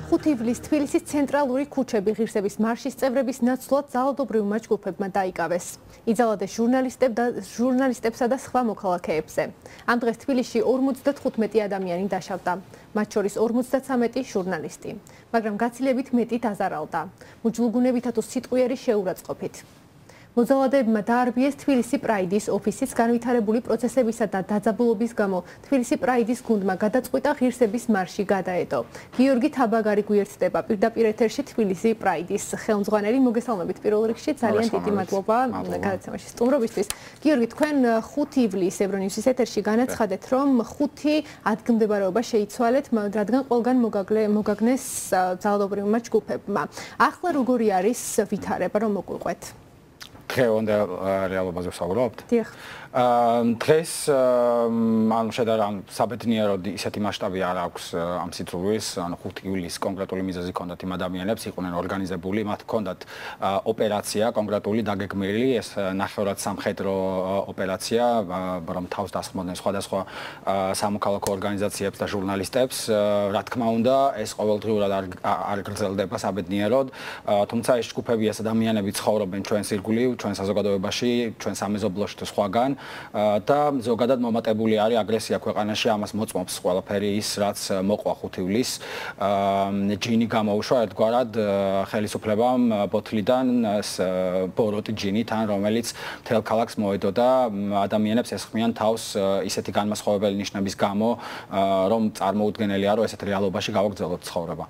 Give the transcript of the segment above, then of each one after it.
5 ივლისს თბილისის ცენტრალური ქუჩები ღირსების მარშის წევრების ნაცვლად ძალადობრივმა ჯგუფებმა დაიკავეს. იძალადეს ჟურნალისტებსა და სხვა მოქალაქეებზე. ამ დღეს თბილისში 55 ადამიანი დაშავდა. მათ შორის 53 ჟურნალისტი, მაგრამ გაცილებით მეტი დაზარალდა. მუჯლუგუნებითა თუ სიტყვიერი შეურაცხყოფით. მოძალადეებმა დაარბიეს თბილისი პრაიდის ოფისის განვითარებული პროცესებისა და დაძაბულობის გამო თბილისი პრაიდის გუნდმა გადაწყვიტა ღირსების მარში გადაედო. გიორგი თაბაგარი გვიერთდება პირდაპირ ეთერში თბილისი პრაიდის ხელმძღვანელი. მოგესალმებით პირველ რიგში, ძალიან დიდი მადლობა გადაცემაში სტუმრობისთვის. გიორგი, თქვენ 5 ივლისს ევრონიუსის ეთერში განაცხადეთ, რომ 5 ადგილმდებარეობა შეიცვალეთ, რადგან ყველგან მოგაგნეს ძალადობრივმა ჯგუფებმა. ახლა როგორი არის ვითარება, რომ მოგვიყვეთ? დღევანდელ რეალობაზე ვსაუბრობთ. დიახ. დღეს ანუ შედარებით საბედნიეროდ ისეთი მასშტაბი არ აქვს ამ სიძულვის, ანუ 5 ივლისს კონკრეტული მიზეზი ჰქონდათ იმ ადამიანებს, იყვნენ ორგანიზებული, მათ ჰქონდათ ოპერაცია კონკრეტული დაგეგმილი, ეს ნახევრად სამხედრო ოპერაცია, რომ თავს დასხმოდნენ სხვადასხვა სამოქალაქო ორგანიზაციებს და ჟურნალისტებს. რა თქმა უნდა, ეს ყოველდღიურად არ გრძელდება საბედნიეროდ, თუმცა ეს ჯგუფები, ეს ადამიანები ცხოვრობენ ჩვენს ირგვლივ, ჩვენ საზოგადოებაში, ჩვენ სამეზობლოში თუ სხვაგან და ზოგადად მომატებული არის აგრესია ქვეყანაში, ამას მოწმობს ყველაფერი ის, რაც მოყვა 5 ივლისს. ჯინი გამოუშვა ერთგვარად ხელისუფლებამ ბოთლიდან ბოროტი ჯინი თან, რომელიც მთელ ქალაქს მოედო და ადამიანებს ესხმიან თავს ისეთი განმასხვავებელი ნიშნების გამო, რომ წარმოუდგენელია, რომ ესეთ რეალობაში გავაგრძელოთ ცხოვრება.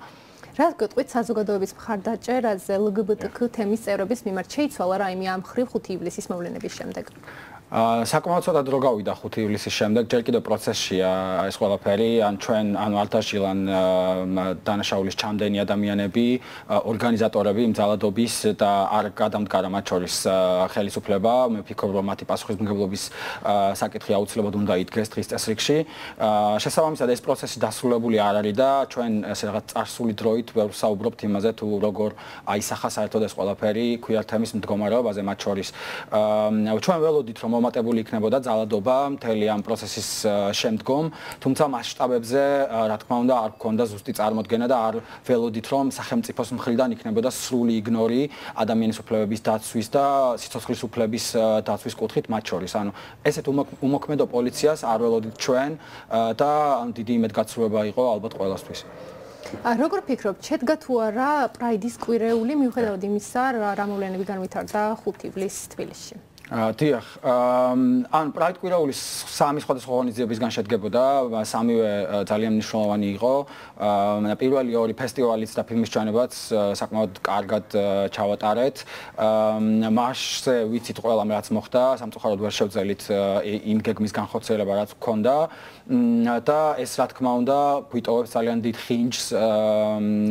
რა გეტყვით საზოგადოების მხარდაჭერაზე LGBT თემის წევრების მიმართ შეიცვალა რაიმე ამ მხრივ 5 ივლისის მოვლენების შემდეგ? საკმაოდ ცოტა დრო გავიდა 5 ივლისის შემდეგ, ჯერ კიდევ პროცესშია ეს ყველაფერი, ჩვენ არ დაშილან დანაშაულის ჩამდენი ადამიანები, ორგანიზატორები იმ ძალადობის და არ გადამდგარა მათ შორის ხელისუფლება. მე ვფიქრობ, რომ მათი პასუხისმგებლობის საკითხი აუცილებლად უნდა იდგეს დღის წესრიგში. შესაბამისად, ეს პროცესი დასრულებული არ არის და ჩვენ ესე რაღაც წარსული დროით ვერ ვსაუბრობთ იმაზე, თუ როგორ აისახა საერთოდ ეს ყველაფერი ქუიარ თემის მდგომარეობაზე მათ შორის. ჩვენ ველოდით, რომ მომატებული იქნებოდა ძალადობა მთელი ამ პროცესის შემდგომ, თუმცა მასშტაბებზე, რა თქმა უნდა, არ გქონდა ზუსტი წარმოდგენა და არ ველოდით, რომ სახელმწიფოს მხრიდან იქნებოდა სრული იგნორი ადამიანის უფლებების დაცვის და სიცოცხლის უფლების დაცვის კუთხით მათ შორის. ანუ ესეთ უმოქმედო პოლიციას არ ველოდით ჩვენ და დიდი იმედგაცრუება იყო ალბათ ყველასთვის. როგორ ფიქრობთ, შედგა თუ არა პრაიდის კვირეული მიუხედავად იმისა, რა მოვლენები განვითარდა 5 ივლისს თბილისში? დიახ, ან პრაიდ კვირაულის 3 სხვადასხვა ორგანიზაციებისგან შედგებოდა, სამივე ძალიან მნიშვნელოვანი იყო. პირველი 2 ფესტივალიც და ფილმის ჩანებაც საკმაოდ კარგად ჩავატარეთ. მასზე ვიცით ყველამ რაც მოხდა, სამწუხაროდ ვერ შევძელით იმ გეგმის განხორციელება რაც გქონდა და ეს რა თქმა უნდა გვიტოვებს ძალიან დიდ ხინჯს,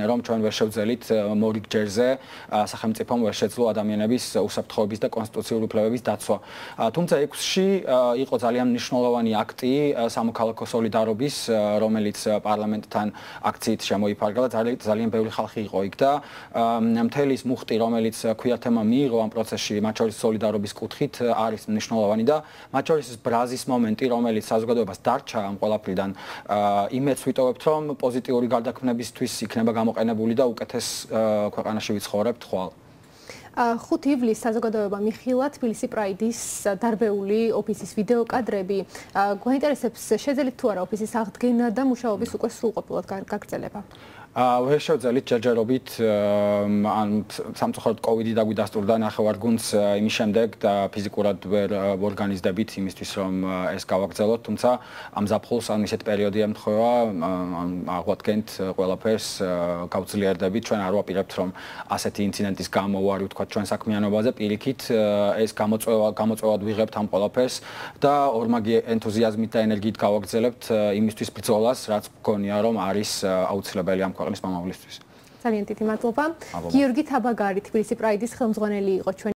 რომ ჩვენ ვერ შევძელით მორიგ ჯერზე სახელმწიფომ ვერ შეძლო ადამიანების უსაფრთხოების და კონსტიტუციური უფლებების დაცვა. თუმცა 6-ში იყო ძალიან მნიშვნელოვანი აქტი სამოქალაქო სოლიდარობის, რომელიც პარლამენტთან აქციით შემოიფარგლა და ძალიან ბევრი ხალხი იყო იქ და მთელი ის მუხტი, რომელიც ქუიარ თემამ მიიღო ამ პროცესში, მათ შორის სოლიდარობის კუთხით არის მნიშვნელოვანი და მათ შორის ის ბრაზის მომენტი, რომელიც საზოგადოებას დარჩა ამ ყველაფრიდან, იმედს ვიტოვებთ, რომ პოზიტიური გარდაქმნებისთვის იქნება გამოყენებული და უკეთეს ქვეყანაში ვიცხოვრებთ ხვალ. 5 ივლისს საზოგადოება მიხილა თბილისი პრაიდის დარბეული ოფისის ვიდეო კადრები. გვაინტერესებს შეძელით თუ არა ოფისის აღდგენა და მუშაობის უკვე სრულყოფილად გაგრძელება? ვერ შევძელით ჯერჯერობით, ან სამწუხაროდ კოვიდი დაგვიდასტურდა ნახევარგუნდს იმის შემდეგ და ფიზიკურად ვერ ორგანიზდებით იმისთვის, რომ ეს გავაგრძელოთ, თუმცა ამ ზაფხულს ან ისეთ პერიოდი ემთხვევა, აღვადგენთ ყველაფერს, გავძლიერდებით, ჩვენ არ ვაპირებთ, რომ ასეთი ინციდენტის გამო ვარი ვთქვათ ჩვენ საქმიანობაზე, პირიქით ეს გამოწვევად ვიღებთ ამ ყველაფერს და ორმაგი ენთუზიაზმით და ენერგიით გავაგრძელებთ იმისთვის ბრძოლას, რაც მგონია, რომ არის აუცილებელი ამ ქვეყნის მომავლისთვის. ძალიან დიდი მადლობა. გიორგი თაბაგარი, თბილისი პრაიდის ხელმძღვანელი იყო ჩვენ